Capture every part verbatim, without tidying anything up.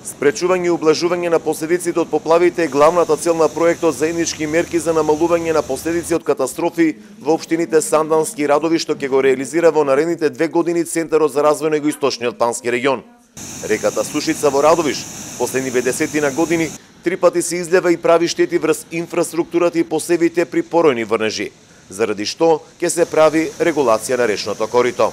Спречување и ублажување на последиците од поплавите е главната цел на проектот заеднички мерки за намалување на последици од катастрофи во општините Сандански и Радови, што ќе го реализира во наредните две години Центарот за развој на Југоисточниот Бански регион. Реката Сушица во Радовиш последниве десетина години три пати се излева и прави штети врз инфраструктурата и посевите при поројни врнежи, заради што ќе се прави регулација на речното корито.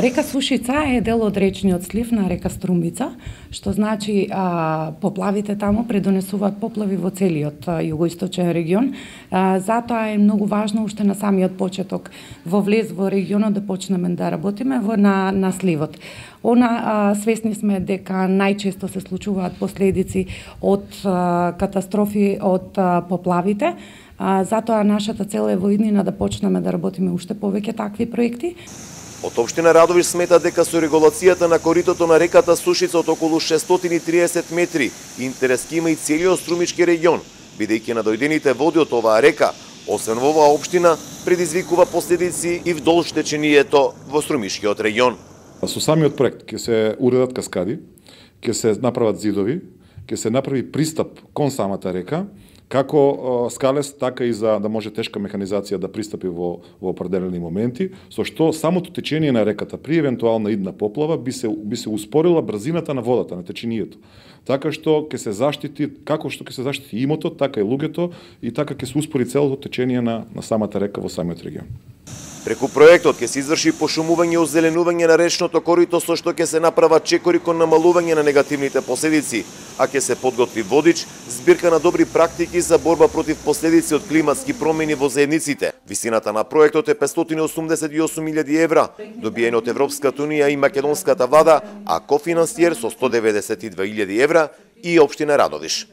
Река Сушица е дел од речниот слив на река Струмица, што значи а, поплавите таму предонесуваат поплави во целиот а, југоисточен регион. А, затоа е многу важно уште на самиот почеток во влез во регионот да почнеме да работиме во на, на сливот. Она а, свесни сме дека најчесто се случуваат последици од а, катастрофи од а, поплавите. А, затоа нашата цел е во иднина да почнеме да работиме уште повеќе такви проекти. Од општина Радовиш смета дека со регулацијата на коритото на реката Сушица од околу шестстотини и триесет метри интерес ќе има и целиот Струмички регион, бидејќи надојдените води од оваа река, освен во оваа општина, предизвикува последици и вдолж течението во Струмишкиот регион. Со самиот проект ќе се уредат каскади, ќе се направат зидови, ќе се направи пристап кон самата река, како скалест, така и за да може тешка механизација да пристапи во, во определени моменти, со што самото течение на реката при евентуална идна поплава би се, би се успорила брзината на водата, на течението. Така што ќе се заштити, како што ќе се заштити имотот, така и луѓето, и така ќе се успори целото течение на, на самата река во самиот регион. Преку проектот ќе се изврши пошумување и озеленување на речното корито, со што ќе се направат чекори кон намалување на негативните последици, а ќе се подготви водич, збирка на добри практики за борба против последици од климатски промени во заедниците. Висината на проектот е петстотини и осумдесет и осум илјади евра, добиен од Европската унија и македонската влада, а кофинансиер со сто деветдесет и две илјади евра и општина Радовиш.